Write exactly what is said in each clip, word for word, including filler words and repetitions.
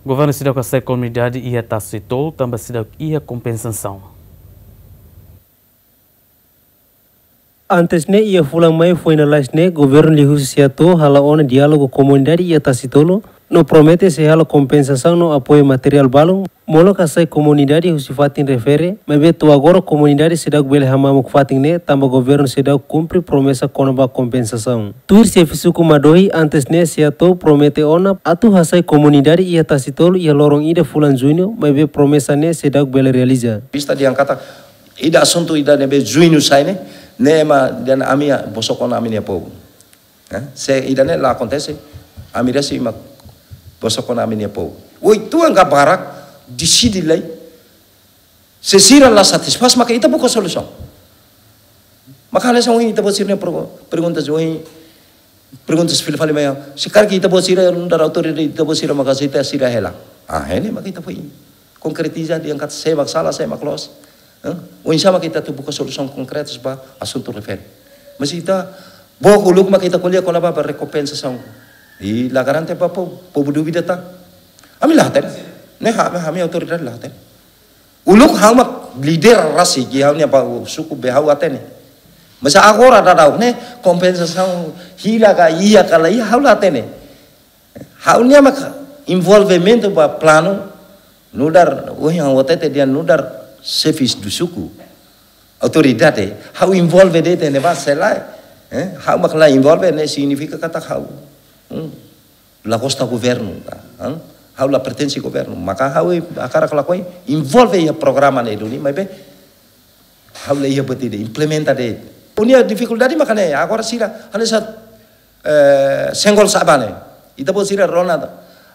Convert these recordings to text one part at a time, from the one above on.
Governu seidauk hasai komunidade iha Tasitolu tanba seidauk iha kompensasaun. Antes ne'e, iha fulan Maiu foin lalais ne'e, governu liuhusi SEATOU halo ona diálogu komunidade iha Tasitolu, no promete sei halo kompensasaun no apoiu materiál balun, molok hasai komunidade husi fatin refere, maibé to'o agora komunidade seidauk bele hamamuk fatin ne'e, tanba governu seidauk kumpre promesa kona-ba kompensasaun. Tuir xefe suku Madohi, antes ne'e SEATOU promete ona atu hasai komunidade iha Tasitolu iha loron ida fulan Juñu, maibé promesa ne'e seidauk bele realiza. Vista dehan katak ida asuntu ida ne'ebé Juñu sai ne'e, ne'e ema dehan ami bosok ona ami-nia povu. Eh, se ida-ne'e la akontese, ami rasik mak bosok ona ami-nia povu. Oituan ka barak, deside lai. Se sira la satisfás, maka ita buka solusaun. Maka hanesan ohin ita-boot sira-nia pergu-, perguntas ohin, perguntas fila fali mai. Se karik ita-boot sira nu'udar autoridade, ita-boot sira maka se ita sira hela. Ah, ne'e maka ita foin konkretiza dehan katak sé mak sala, sé mak loos. Eh? Oinsá mak ita atu buka solusaun konkretas ba asuntu refere. Mas ita, book uluk mak ita ko'alia kona-ba, ba rekompensasaun. I la garante ba povu, povu dúvida tan. Ami la hatene. Ne'e ha-, ami autoridade la hatene. Uluk ha'u mak líder rasik iha ha'u-nia ba suku be ha'u hatene. Mas agora daudaun ne'e kompensasaun hira ka iha ka la iha ha'u la hatene. Ha'u-nia mak envolvimentu ba planu nu'udar, ohin ha'u hatete dehan nu'udar xefes do suku, autoridade, ha'u envolve de'it ne'ebá sei lae. Eh, ha'u mak la envolve ne'e signifika katak ha'u, hmm, la gosta governu, ka, hmm? Ha'u la pertense governu. Maka ha'u hakarak lakohi envolve iha programa ne'e duni, maibé ha'u la iha buat ida, implementa de'it. Nia difikuldade maka ne'e, agora sira hanesan, eh, senggol sa'e ba ne'e. Ita-boot sira rona.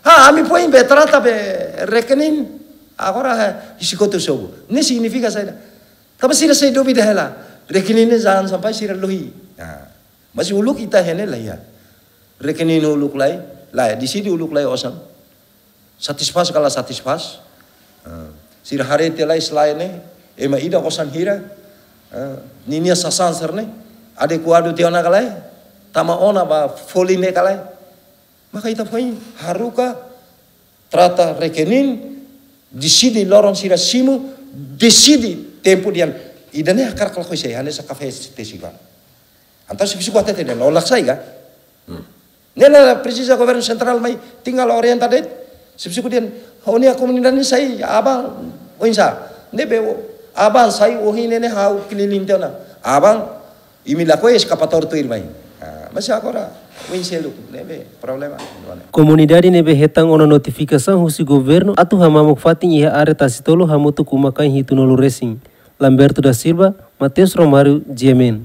Ha, ami foin be trata be rekening, agora, eh, hisi kotuk sobu. Ne'e signifika saida? Tanba sira sei dúvida hela. Rekening ne'e jangan sampai sira lohi. Nah, mas uluk ita hatene la iha. Rekening uluk lai, la, deside uluk lai osan. Satisfás ka la satisfás. Ah, sira haree tiha lai slide ne'e, ema ida osan hira, ah, ninia sasán sira-ne'e adekuadu tiha ona ka lae, tama ona ba folin ne'e ka lae. Maka ita foin haruka, trata rekening, deside loron sira simu, deside tempu dehan ida-ne'e hakarak lakohi sé, hanesan kafé tesi ba. Entaun xefe suku hatete dehan, olak sai ka? Hmm. Ne'e la presiza governu sentrál mai, tinggal orienta de'it. Xefe suku dehan, ó-nia komunidade ne'e sai aban, oinsá. Ne'ebé aban sai ohin ne'e ha'u keliling tiha ona. Aban, imi lakohi eskapatória tuir mai. Ah, mas agora, oin seluk, ne'ebé problema. Komunidade ne'ebé hetan ona notifikasaun husi governu atu hamamuk fatin iha área Tasitolu hamutuk uma-kain hitunulu resin. Lamberto da Silva, Mateus Romário, G M N.